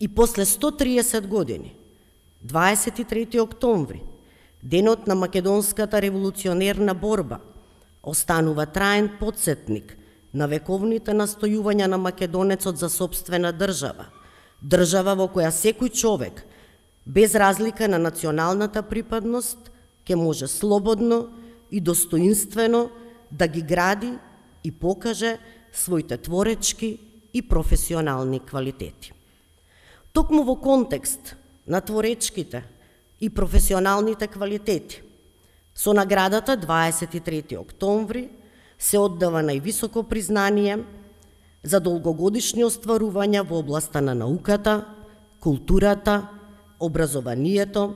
И после 130 години, 23 октомври, денот на македонската револуционерна борба, останува траен потсетник на вековните настојувања на македонецот за сопствена држава, држава во која секој човек, без разлика на националната припадност, ќе може слободно и достоинствено да ги гради и покаже своите творечки и професионални квалитети. Токму во контекст на творечките и професионалните квалитети, со наградата 23 октомври се оддава највисоко признание за долгогодишни остварувања во областа на науката, културата, образованието,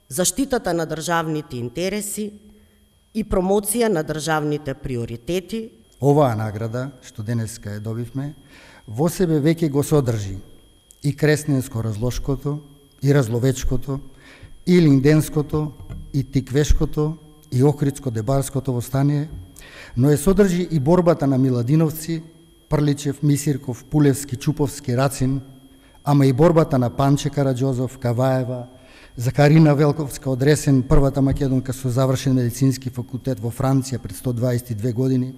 заштитата на државните интереси и промоција на државните приоритети. Оваа награда, што денеска ја добивме, во себе веќе го содржи и кресненско-разложкото, и разловечкото, и линденското, и тиквешкото, и охридско-дебарското востание, но ја содржи и борбата на Миладиновци, Прличев, Мисирков, Пулевски, Чуповски, Рацин, ама и борбата на Панче Караџозов, Каваева, Закарина Велковска од Ресен, првата македонка со завршен медицински факултет во Франција пред 122 години,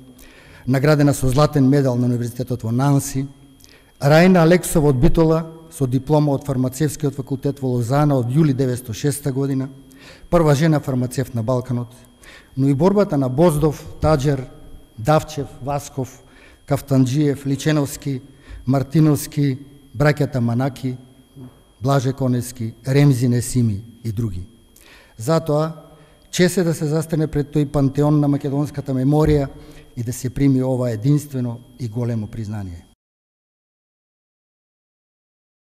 наградена со златен медал на Универзитетот во Нанси, Рајна Алексова од Битола со диплома од фармацевскиот факултет во Лозана од јули 1906 година, прва жена фармацевт на Балканот, но и борбата на Боздов, Таџер, Давчев, Васков, Кафтанџиев, Личеновски, Мартиновски, браќата Манаки, Блаже Конески, Ремзи Несими и други. Затоа, чест е да се застане пред тој пантеон на македонската меморија и да се прими ова единствено и големо признание.